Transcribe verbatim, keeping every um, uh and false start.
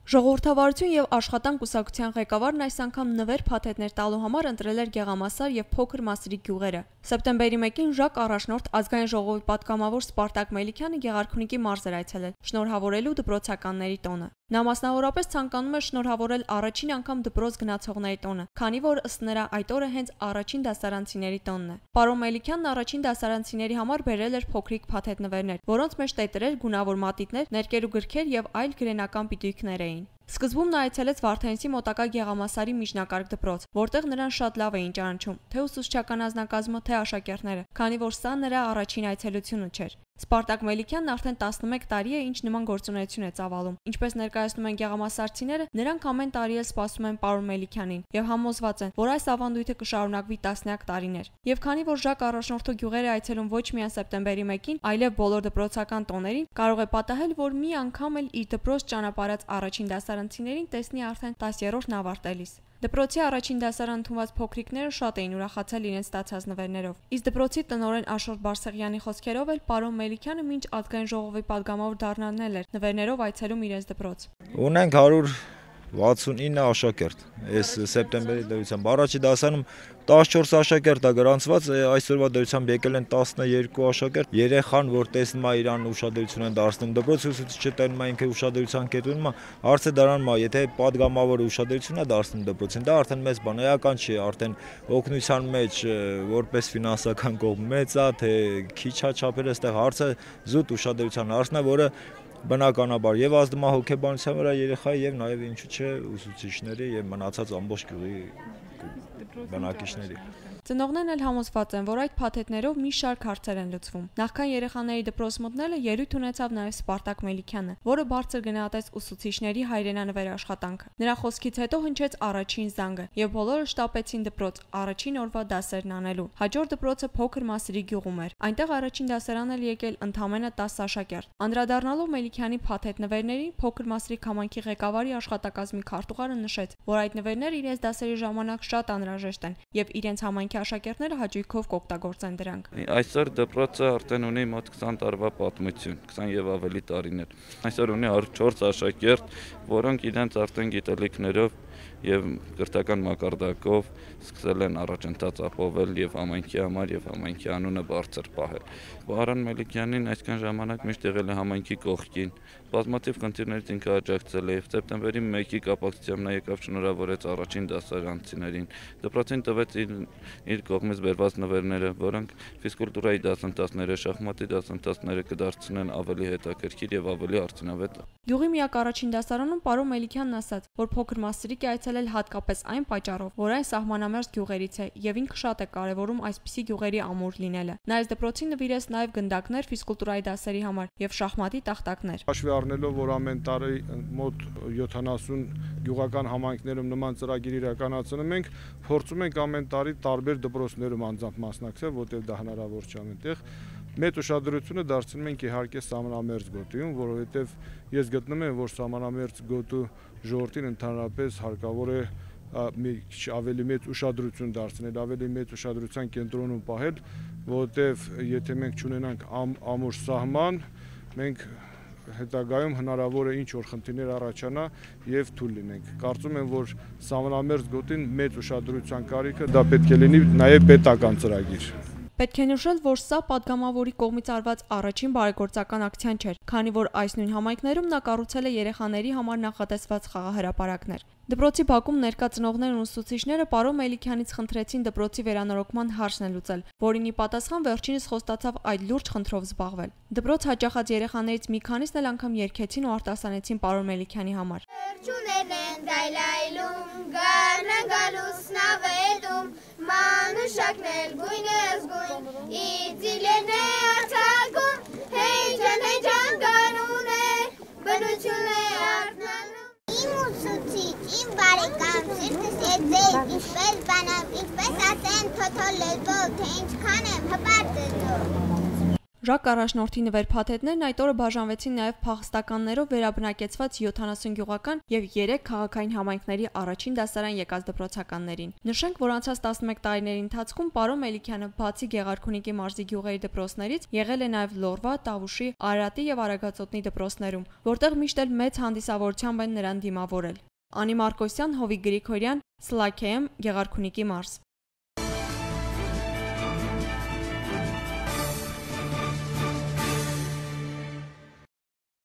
Ժողովրդավարություն եւ աշխատանք կուսակցության ղեկավարն այս անգամ նվեր փաթեթներ տալու համար ընտրել էր Գեղամասար եւ Փոքր Մասրիկ գյուղերը։ Սեպտեմբերի մեկին Ժակ առաջնորդ ազգային ժողովի պատգամավոր Սպարտակ Մելիքյանը Գեղարքունիքի մարզ էր այցելել շնորհավորելու դպրոցականների տոնը։ Նա մասնավորապես ցանկանում էր շնորհավորել առաջին անգամ դպրոց գնացողների տոնը, քանի որ ըստ նրա այդ օրը հենց առաջին դասարանցիների տոնն է։ Պարոն Մելիքյանն առաջին դասարանցիների համար բերել էր փոքրիկ փաթեթնվերներ, որոնց մեջ տետերեր, գունավոր մատիտներ, ներկեր ու գրքեր եւ այլ գրենական պիտույքներ էին։ Սկզբում նա այցելեց Վարդենիսի մոտակա Գեղամասարի միջնակարգ դպրոց, որտեղ նրան շատ լավ էին ճանաչում, թե ուսուցչական անձնակազմը, թե աշակերտները, քանի որ սա նրա առաջին այցելությունը չէր։ Սպարտակ Մելիքյանն արդեն տասնմեկ տարի է, ինչ նման գործունեություն է ծավալում։ Ինչպես ներկայացնում են գեղամասարցիները, նրանք ամեն տարի էլ սպասում են պարոն Մելիքյանին եւ համոզված են, որ այս ավանդույթը կշարունակվի տասնյակ տարիներ։ Եվ քանի որ Ժակ առաջնորդու գյուղերը այցելում ոչ միայն սեպտեմբերի մեկին, այլև բոլոր դպրոցական տոներին, կարող է պատահել, որ մի անգամ էլ իր դպրոց ճանապարհած առաջին դասարանցիներին տեսնի արդեն տասներորդն ավարտելիս։ Դպրոցի առաջին դասարան ընդունված փոքրիկները շատ էին ուրախացել իրենց ստացած նվերներով։ Իսկ դպրոցի տնօրեն Աշոտ Բարսեղյանի խոսքերով էլ պարոն Մելիքյանը մինչ ազգային ժողովի պատգամավոր դառնալն էր նվերներով այցելում իրենց դպրոց։ Ունենք հարյուր վաթսունինը աշակերտ, այս սեպտեմբերի դրությամբ առաջի դասանում տասնչորս աշակերտ է գրանցված, այսօրվա դրությամբ եկել են տասներկու աշակերտ, երեխան, որ տեսնում է իրան ուշադրություն են դարձնում դպրոցի ուսուցիչը տենում է ինքը ուշադրության կետում, հարցը դրանում է, եթե պատգամավորը ուշադրություն է դարձնում դպրոցին, դա արդեն մեծ բան է, էական չի, արդեն օգնության մեջ որպես ֆինանսական կողմ մեծ է, թե քիչ է չափերը, այստեղ հարցը զուտ ուշադրության հարցն է, որը բնականաբար եւ ազդում է հոգեբանության վրա երեխայի եւ նաեւ ինչու՞ չէ ուսուցիչների եւ մնացած ամբողջ գյուղի բնակիչների։ Ծնողներն էլ համոզված են, որ այդ փաթեթներով մի շարք հարցեր են լուծվում։ Նախքան երեխաների դպրոց մտնելը ելույթ ունեցավ նաև Սպարտակ Մելիքյանը, որը բարձր գնահատեց ուսուցիչների հայրենանվեր աշխատանքը։ Նրա խոսքից հետո հնչեց առաջին զանգը, եւ բոլորը շտապեցին դպրոց առաջին օրվա դասերն անելու։ Հաջորդ դպրոցը Փոքր Մասրիկ գյուղում էր։ Այնտեղ առաջին դասարան էլ եկել ընդամենը տասը աշակերտ։ Անդրադառնալով Մելիքյանի փաթեթնվերներին, Փոքր Մասրիկ համայնքի ղեկավարի աշխատակազմի քարտուղարը նշեց, որ այդ նվերները իրենց դասերի ժամանակ շատ անհրաժեշտ են եւ իրենց համայնքի աշակերտները հաճույքով կօգտագործեն դրանք։ Այսօր դպրոցը արդեն ունի մոտ քսան տարվա պատմություն, քսան եւ ավելի տարիներ։ Այսօր ունի չորս աշակերտ, որոնք իրենց արդեն գիտելիքներով եւ կրթական մակարդակով սկսել են առաջընթաց ապավել եւ համայնքի համար եւ համայնքի անունը բարձր պահել։ Պարոն Մելիքյանին այսքան ժամանակ միշտ եղել է համայնքի կողքին, բազմաթիվ խնդիրներից ինքը աջակցել է եւ սեպտեմբերի մեկի կապակցությամբ նա եկավ շնորհավորեց առաջին դասարանցիներին։ Դպրոցին տվեց իր, իր կողմից բերված նվերները, որոնք ֆիզկուլտուրայի դասընթացները, շախմատի դասընթացները կդարձնեն ավելի հետաքրքիր եւ ավելի արդյունավետ։ Գյուղի միակ առաջին դասարանում պարոն Մելիքյանն ասաց, որ Փոքր Մասրիկ է այցելել հատկապես այն պատճառով, որ այն սահմանամերձ գյուղերից է եւ ինքը շատ է կարեւորում այսպիսի գյուղերի ամուր լինելը։ Նա այս դպրոցին նվիրեց նաեւ գնդակներ ֆիզկուլտուրայի դասերի համար եւ շախմատի տախտակներ։ Հաշվի առնելով, որ ամեն տարի մոտ յոթանասուն գյուղական համայնքներում նման ծրագիր իրականացնում ենք, փորձում ենք ամեն տարի տարբեր դպրոցներում անձամբ մասնակցել, որտեղ դա հնարավոր չէ ամենտեղ։ Մեծ ուշադրությունը դարձնում ենք իհարկե սահմանամերձ գոտիում, որովհետև ես գտնում եմ, որ սահմանամերձ գոտու ժողովրդին ընդհանրապես հարկավոր է մի քիչ ավելի մեծ ուշադրություն դարձնել, ավելի մեծ ուշադրության կենտրոնում պահել, որովհետև եթե մենք չունենանք ամ, ամուր սահման, մենք հետագայում հնարավոր է ինչ որ խնդիրներ առաջանա եւ թույլ լինենք։ Կարծում եմ, որ սահմանամերձ գոտին մեծ ուշադրության կարիքը դա պետք է լինի նաեւ պետական ծրագիր։ Պետք է նշել, որ սա պատգամավորի կողմից արված առաջին բարեգործական ակցիան չէր, քանի որ այս նույն համայնքներում նա կառուցել է երեխաների համար նախատեսված խաղահրապարակներ։ Դպրոցի բակում ներկա ծնողներն ու ուսուցիչները պարոն Մելիքյանից խնդրեցին դպրոցի վերանորոգման հարցն լուծել, որին ի պատասխան վերջինս խոստացավ այդ լուրջ խնդրով զբաղվել։ Դպրոց հաճախած երեխաներից մի քանիսն էլ անգամ երգեցին ու արտասանեցին պարոն Մելիքյանի համար։ Մանուշակներ գույնս գույն, իձիլերն է արձակում, հեյջան հեյջան կանուն է, բնություն է արտնանում։ Իմ ուսուցիչ, իմ բարեկամ, սիրտս է ձեզ, ինչպես բանամ, ինչպես ասեն թոթո լեզվով, թե ինչքան եմ հպարտ է ձով։ Ժակ առաջնորդի նվեր-փաթեթներն այդ օրը բաժանվեցին նաև փախստականներով վերաբնակեցված յոթանասուն գյուղական եւ երեք քաղաքային համայնքների առաջին դասարան եկած դպրոցականներին։ Նշենք, որ անցած տասնմեկ տարիների ընթացքում Պարո Մելիքյանը բացի Գեղարքունիքի մարզի գյուղերի դպրոցներից եղել է նաև Լորվա, Տավուշի, Արարատի եւ Արագածոտնի դպրոցներում, որտեղ միշտ էլ մեծ հանդիսավորությամբ են նրան դիմավորել։ Անի Մարկոսյան, Հովիկ Գրիգորյան, Սլաքեյեմ, Գեղարքունիքի մարզ։